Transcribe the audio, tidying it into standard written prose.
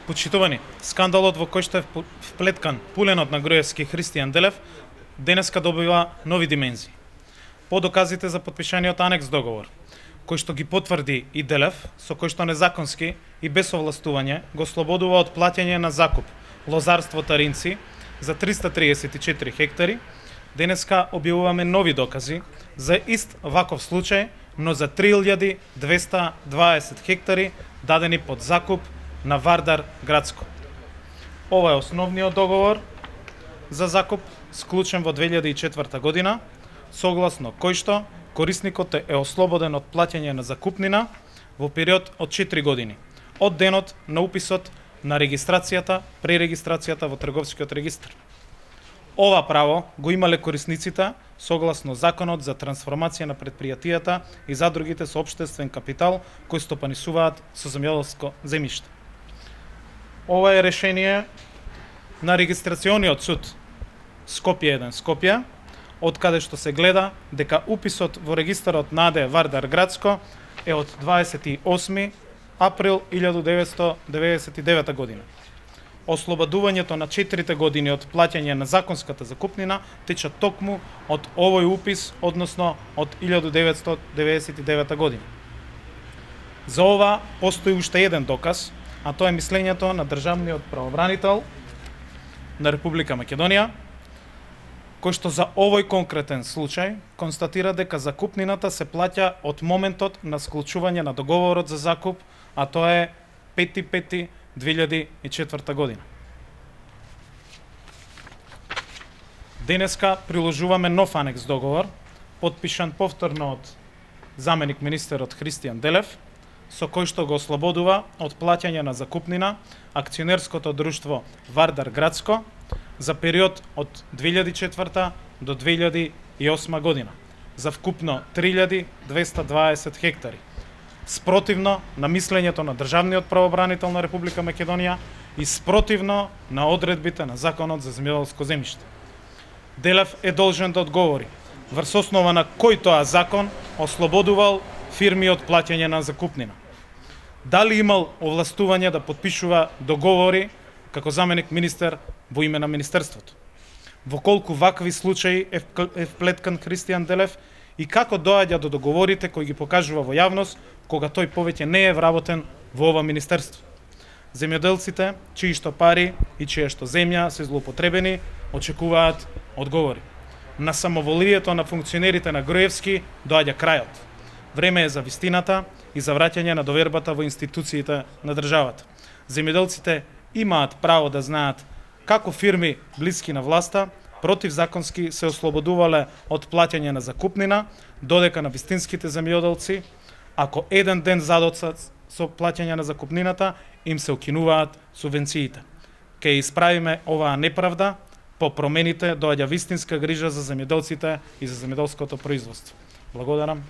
Почитувани, скандалот во кој што е вплеткан пуленот на Груевски Христијан Делев денеска добива нови димензии. По доказите за потпишаниот анекс договор, кој што ги потврди и Делев, со кој што незаконски и без овластување го слободува од плаќање на закуп лозарство Таринци за 334 хектари, денеска објавуваме нови докази за ист ваков случај, но за 3220 хектари дадени под закуп на Вардар Градско. Ова е основниот договор за закуп склучен во 2004 година, согласно кој што корисникот е ослободен од плаќање на закупнина во период од 4 години, од денот на уписот на регистрацијата, пререгистрацијата во трговскиот регистар. Ова право го имале корисниците согласно Законот за трансформација на предпријатијата и задругите со општествен капитал кои стопанисуваат со земјоделско земјиште. Ова е решение на регистрациониот суд Скопје 1 Скопје, од каде што се гледа дека уписот во регистарот на АД Вардар Градско е од 28 април 1999 година. Ослободувањето на 4 години од плаќање на законската закупнина тече токму од овој упис, односно од 1999 година. За ова постои уште еден доказ, а тоа е мислењето на државниот правобранител на Република Македонија, кој што за овој конкретен случај констатира дека закупнината се плаќа од моментот на склучување на договорот за закуп, а тоа е 5.5.2004 година. Денеска приложуваме нов анекс договор, потпишан повторно од заменик министерот Христијан Делев, со кој што го ослободува од плаќање на закупнина акционерското друштво Вардар Градско за период од 2004 до 2008 година за вкупно 3220 хектари, спротивно на мислењето на државниот правобранител на Република Македонија и спротивно на одредбите на Законот за земјоделско земјиште. Делев е должен да одговори врз основа на кој тоа закон ослободувал фирми од плаќање на закупнина. Дали имал овластување да потпишува договори како заменик министер во име на министерството? Во колку вакви случаи е вплеткан Христијан Делев и како доаѓа до договорите кои ги покажува во јавност кога тој повеќе не е вработен во ова министерство? Земјоделците, чии што пари и чија што земја се злоупотребени, очекуваат одговори. На самоволието на функционерите на Груевски доаѓа крајот. Време е за вистината и за враќање на довербата во институциите на државата. Земјоделците имаат право да знаат како фирми блиски на власта противзаконски се ослободувале од плаќање на закупнина, додека на вистинските земјоделци, ако еден ден задоцат со плаќање на закупнината, им се укинуваат субвенциите. Ке исправиме оваа неправда, по промените доаѓа вистинска грижа за земјоделците и за земјоделското производство. Благодарам.